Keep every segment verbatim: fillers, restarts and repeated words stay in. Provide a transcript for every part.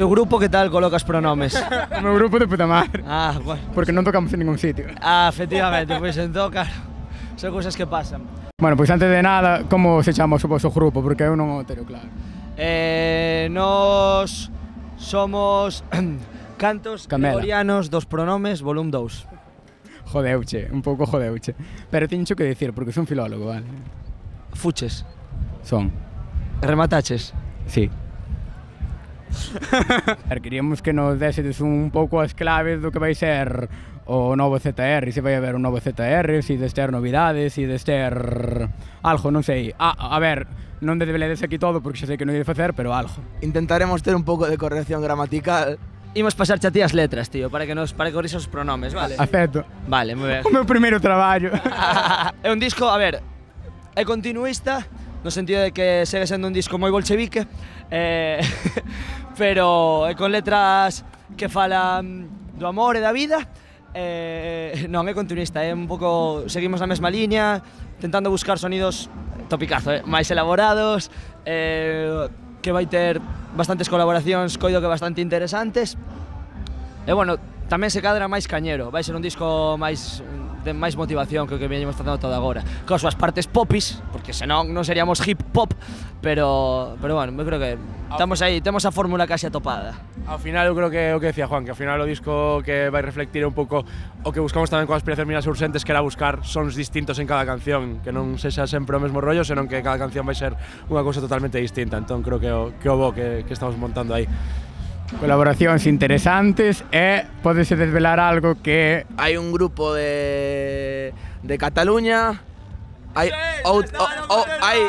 O grupo que tal colocas pronomes? O meu grupo de puta madre. Ah, bueno. Porque non tocamos en ningún sitio. Ah, efectivamente, pois entón, claro, son cousas que pasan. Bueno, pois antes de nada, como se chama o vosso grupo? Porque eu non o teño claro. Eh, nos somos Cantos Camela. Gregorianos dos Pronomes, volume dous. Jodeuche, un pouco jodeuche. Pero teño que dicir, porque son filólogo, vale? Fuches. Son. Remataches. Sí. Queríamos que nos desedes un pouco as claves do que vai ser o novo Z R, se vai haber un novo Z R, se des ter novidades, se des ter algo, non sei. Ah, a ver, non desveledes aquí todo porque xa sei que non ides facer, pero algo. Intentaremos ter un pouco de corrección gramatical. Imos pasarche a ti as letras, tío, para que nos para que corrixas os pronomes, vale? Acepto. Vale, moi ben. O meu primeiro traballo. É un disco, a ver, é continuista, no sentido de que segue sendo un disco moi bolchevique, eh, pero é con letras que falan do amor e da vida. Eh, non, é continuista, é un pouco, seguimos na mesma liña, tentando buscar sonidos topicazo, eh, máis elaborados, eh, que vai ter bastantes colaboracións, coido que bastante interesantes. E bueno, tamén se cadra máis cañero, vai ser un disco máis de máis motivación que o que veñemos facendo todo agora. Con as súas partes popis, porque senón non seríamos hip hop, pero pero bueno, eu creo que estamos aí, temos a fórmula case atopada. Ao final eu creo que é o que decía Juan, que ao final o disco que vai reflectir un pouco o que buscamos tamén con Aspiracións Minas Urxentes, que era buscar sons distintos en cada canción, que non sexa sempre o mesmo rollo, senón que cada canción vai ser unha cousa totalmente distinta. Entón creo que o que o bo que, que estamos montando aí. Colaboracións interesantes e podese desvelar algo que... Hai un grupo de, de Cataluña, hai, ou, o, o, hai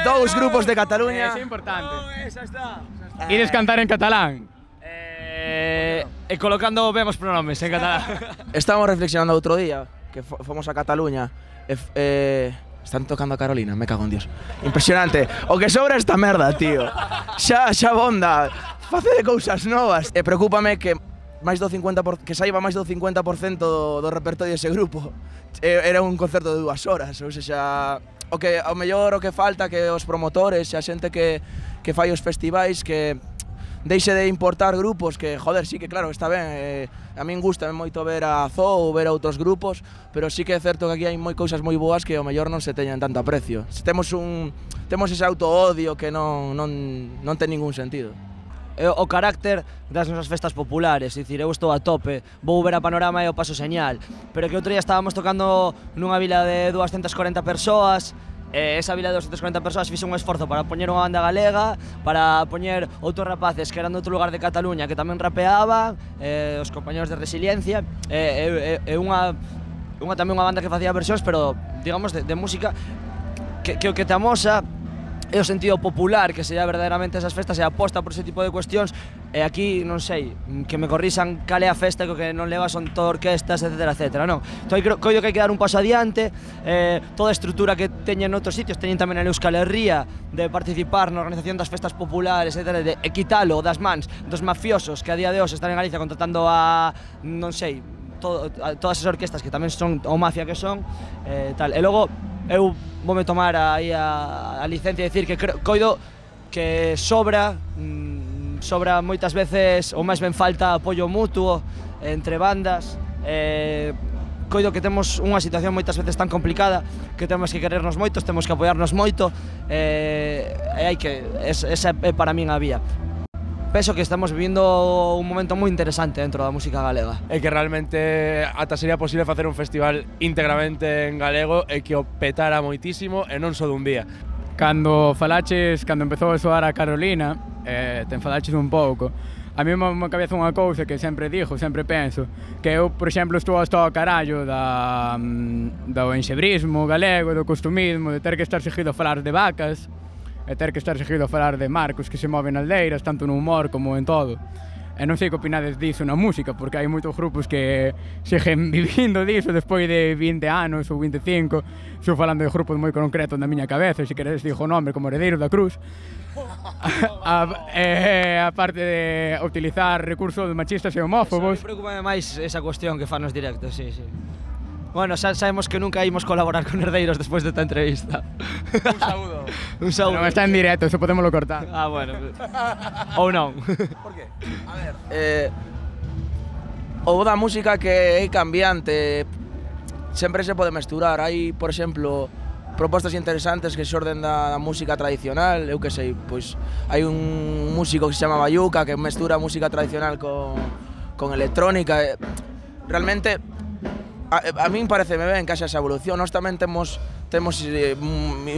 dous grupos de Cataluña. É importante. Esa está. Ides cantar en catalán? Eh, e colocando ben os pronomes en catalán. Estamos reflexionando outro día, que fomos a Cataluña, e, eh, están tocando a Carolina, me cago en Dios. Impresionante. O que sobra esta merda, tío. Xa, xa bonda. Facede cousas novas. E preocúpame que máis do cincuenta por, que saiba máis do cincuenta por cento do, do repertorio dese grupo. Era un concerto de dúas horas, ou seja, o que ao mellor o que falta que os promotores e a xente que que fai os festivais que deixe de importar grupos que, joder, sí que claro, está ben, eh, a min gusta moito ver a Zoo ou ver a outros grupos, pero sí que é certo que aquí hai moi cousas moi boas que ao mellor non se teñen tanto aprecio. Se temos un temos ese auto-odio que non non non ten ningún sentido. O carácter das nosas festas populares, é dicir, eu estou a tope, vou ver a Panorama e o paso señal, pero que outro día estábamos tocando nunha vila de doscientas corenta persoas, e esa vila de doscientas corenta persoas fixe un esforzo para poñer unha banda galega, para poñer outros rapaces que eran de outro lugar de Cataluña que tamén rapeaban, eh, os compañeros de Resiliencia, e eh, eh, eh, unha, unha tamén unha banda que facía versións, pero digamos de, de música que, que o que te amosa é o sentido popular, que sería verdadeiramente esas festas e aposta por ese tipo de cuestións. E aquí, non sei, que me corrixan cal é a festa que o que non leva son todo orquestas, etcétera, etcétera, non? Entón, coido que hai que dar un paso adiante, eh, toda a estrutura que teñen noutros sitios, teñen tamén en Euskal Herria, de participar na organización das festas populares, etcétera, de quitalo das mans dos mafiosos que a día de hoxe están en Galicia contratando a, non sei, todo, a, todas as orquestas que tamén son o mafia que son, eh, tal. E logo, eu voume tomar aí a, a licencia de decir que creo, coido que sobra, mmm, sobra moitas veces, ou máis ben falta apoio mutuo entre bandas, eh, coido que temos unha situación moitas veces tan complicada que temos que querernos moitos, temos que apoiarnos moito, eh, e hai que, es, esa é para min a vía. Penso que estamos vivindo un momento moi interesante dentro da música galega. É que realmente ata sería posible facer un festival íntegramente en galego e que o petara moitísimo e non só dun día. Cando falaches, cando empezou a soar a Carolina, eh, te enfadaches un pouco. A mí me cabeza unha cousa que sempre dixo, sempre penso, que eu, por exemplo, estou hasta o carallo da, do enxebrismo galego, do costumismo, de ter que estar seguido a falar de vacas, e ter que estar seguido a falar de marcos que se moven aldeiras, tanto no humor como en todo. E non sei que opinades diso na música, porque hai moitos grupos que seguen vivindo diso despois de vinte anos ou vinte e cinco. Estou falando de grupos moi concretos na miña cabeza, se queredes dixo o nome como Heredeiros da Cruz. a, e, a parte de utilizar recursos machistas e homófobos. Preocúpame máis esa cuestión que fan nos directos, sí, sí. Bueno, xa sabemos que nunca imos colaborar con Herdeiros despois desta entrevista. Un saúdo. Un saúdo. Non está en directo, eso podémoslo cortar. Ah, bueno. Ou non. Por qué? A ver, eh, o da música que é cambiante, sempre se pode mesturar. Hai, por exemplo, propostas interesantes que xorden da, da música tradicional, eu que sei, pois hai un músico que se chama Bayuca que mestura música tradicional con, con electrónica. Realmente, a, a min pareceme ben que haxa esa evolución. Nós tamén temos temos eh,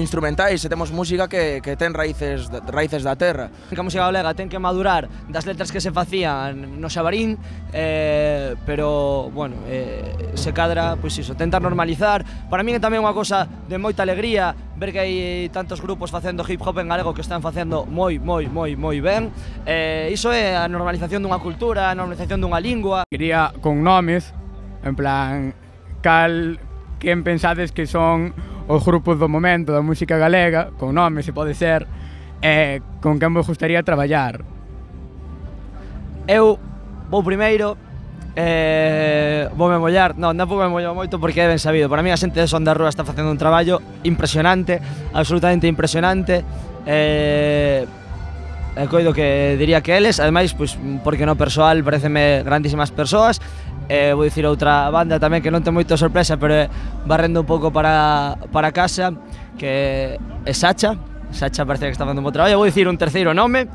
instrumentais e temos música que, que ten raíces, raíces da terra. Que a música galega ten que madurar das letras que se facían no Xabarín, eh, pero, bueno, eh, se cadra, pois iso, tentar normalizar. Para min é tamén unha cosa de moita alegría ver que hai tantos grupos facendo hip hop en galego que están facendo moi, moi, moi, moi ben. Eh, iso é a normalización dunha cultura, a normalización dunha lingua. Quería con nomes, en plan, cal, quen pensades que son os grupos do momento da música galega, con nomes, se pode ser, e con quen vos gustaría traballar? Eu vou primeiro, eh, voume mollar, non, non voume mollar moito porque é ben sabido. Para mí a xente de Son da Rúa está facendo un traballo impresionante, absolutamente impresionante. Eh, e coido que diría que eles, ademais, pois, porque no persoal pareceme grandísimas persoas. Eh, vou dicir outra banda tamén que non ten moita sorpresa, pero é barrendo un pouco para, para casa, que é Sacha. Sacha parece que está facendo un bo traballo. Vou dicir un terceiro nome,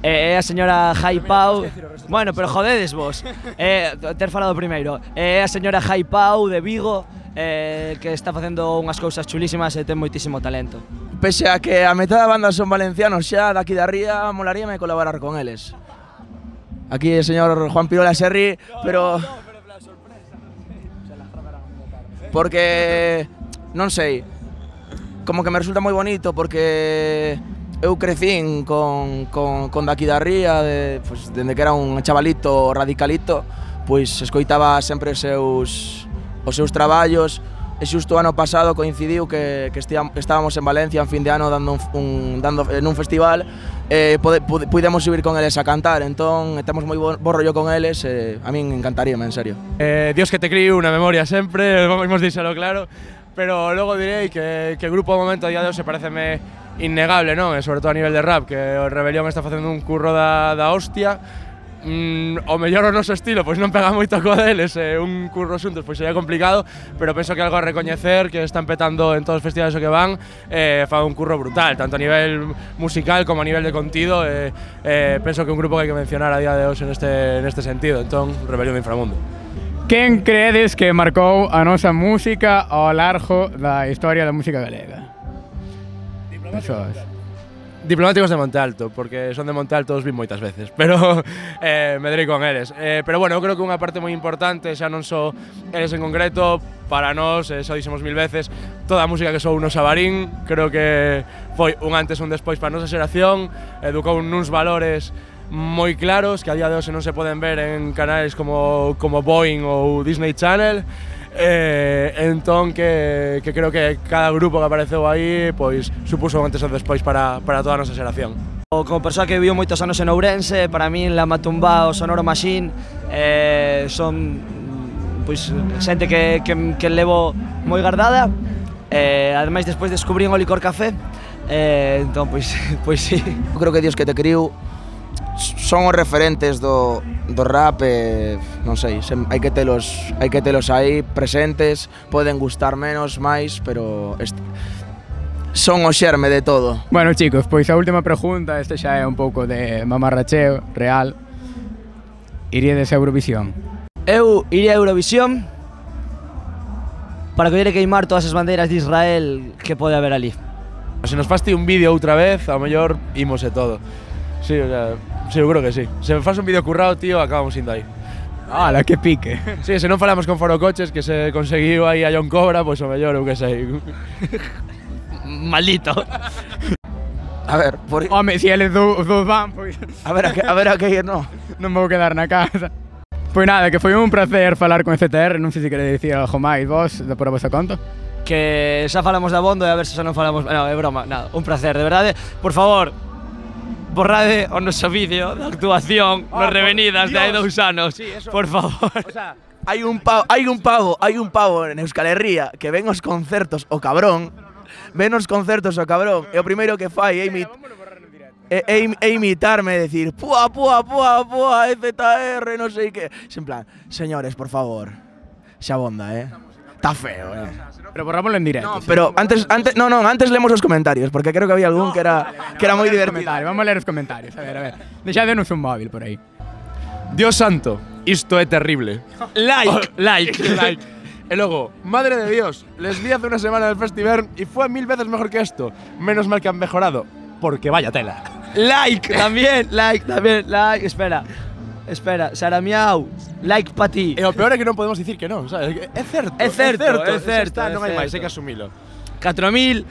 é a señora Jai Pau. Bueno, pero jodedes vos, eh, ter falado primeiro. É a señora Jai Pau de Vigo, eh, que está facendo unhas cousas chulísimas e ten moitísimo talento. Pese a que a metade da banda son valencianos xa daqui da ría, molaríame colaborar con eles. Aquí el señor Juan Pirola se ríe, pero... Porque, non sei, como que me resulta moi bonito porque eu crecín con, con, con daqui da ría, de, pues, dende que era un chavalito radicalito, pois escoitaba sempre os seus, os seus traballos. E xusto o ano pasado coincidiu que, que estábamos en Valencia en fin de ano dando un, un, dando, en un festival e pode, pudemos subir con eles a cantar, entón temos moi bo, bo rollo con eles e a min encantaríame, en serio. Eh, Dios que te criou, unha memoria sempre, vamos díselo claro, pero logo direi que, que o grupo ao momento a día de hoxe pareceme innegable, non? E sobre todo a nivel de rap, que o Rebelión está facendo un curro da, da hostia. Mm, o mellor o noso estilo, pois non pega moito co deles, e un curro xuntos pois sería complicado, pero penso que algo a recoñecer, que están petando en todos os festivales o que van, eh, fa un curro brutal, tanto a nivel musical como a nivel de contido, e eh, eh, penso que un grupo que hai que mencionar a día de hoxe neste, neste sentido, entón, Rebelión de Inframundo. Quen credes que marcou a nosa música ao largo da historia da música galega? Diplomáticos. Diplomáticos de Monte Alto, porque son de Monte Alto, os vi moitas veces, pero eh, me direi con eles. Eh, pero bueno, eu creo que unha parte moi importante, xa non só eles en concreto, para nós, eh, xa dixemos mil veces, toda a música que sou no Xabarín, creo que foi un antes e un despois para a nosa xeración, educou nuns valores moi claros, que a día de hoxe non se poden ver en canais como, como Boeing ou Disney Channel. Eh, entón que, que creo que cada grupo que apareceu aí pois supuso un antes e un despois para, para toda a nosa xeración. Como persoa que viviu moitos anos en Ourense, para min La Matumbá, o Sonoro Machine eh, son pois, xente que, que, que levo moi guardada. Eh, ademais despois descubrín o Licor Café, eh, entón pois, pois sí. Eu creo que Dios que te criou son os referentes do, do rap e, non sei, hai que telos, hai que telos aí presentes, poden gustar menos, máis, pero este, son o xerme de todo. Bueno, chicos, pois a última pregunta, este xa é un pouco de mamarracheo real. Iríades a Eurovisión? Eu iría a Eurovisión para coller e queimar todas as bandeiras de Israel que pode haber ali. Se nos faste un vídeo outra vez, ao mellor imos e todo. Sí, o sea, seguro que sí. Se me faz un vídeo currado, tío, acabamos indo aí. ¡Hala, que pique! Sí, se non falamos con Foro Coches, que se conseguiu aí a John Cobra, pois o mellor, eu que sei. Maldito. A ver, por... Home, se eles dous van, pois... A ver a que, a ver a que ir, no. Non vou quedar na casa. Pois nada, que foi un placer falar con C T R, non sei se queredes dicir algo máis vos, por a vosa conta. Que xa falamos da Bondo e a ver se xa non falamos... Non, é broma, nada, un placer, de verdade. Por favor, borrade o noso vídeo de actuación oh, nos Revenidas de hai dous anos, sí, eso, por favor. O sea, Hai un pavo, hai un pavo, hai un pavo en Euskal Herria que ven os concertos o cabrón, ven os concertos o cabrón, e o primeiro que fai é imit e, e, e imitarme e decir pua, pua, pua, pua, E Z R, non sei que. En plan, señores, por favor, xa bonda, eh. Está feo, eh. Pero borrámoslo en directo. No, pero antes, antes, no, no, antes lemos os comentarios, porque creo que había algún que era, que era moi divertido. Vamos a ler os comentarios, a ver, a ver. Deixadenos un móvil por aí. Dios santo, isto é terrible. Like, like, like. Y luego, madre de Dios, les vi hace una semana en el festival y fue mil veces mejor que esto. Menos mal que han mejorado, porque vaya tela. like, también, like, también, like. Espera, espera, Sara Miau, like pa ti. E o peor é que non podemos dicir que non, sabes? É certo, É certo, é certo, está, é non hai máis, certo. hai que asumilo. catro mil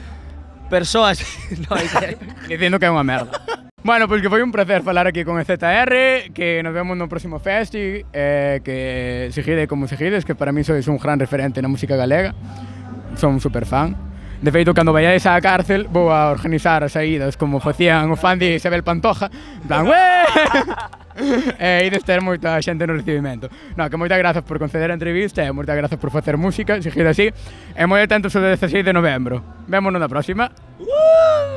persoas. No, é que- Dicindo que é unha merda. Bueno, pois que foi un placer falar aquí con E Z R, que nos vemos no próximo festi, eh, que seguide como seguides, que para mí sois un gran referente na música galega. Son un super fan. De feito, cando vayáis á cárcel, vou a organizar as saídas como facían o fan de Isabel Pantoja. En plan, ué! E ides ter moita xente no recibimento. No, que moitas grazas por conceder a entrevista e moitas grazas por facer música, seguide así. E moi atentos ao dezasseis de novembro. Vémonos na próxima. Uh!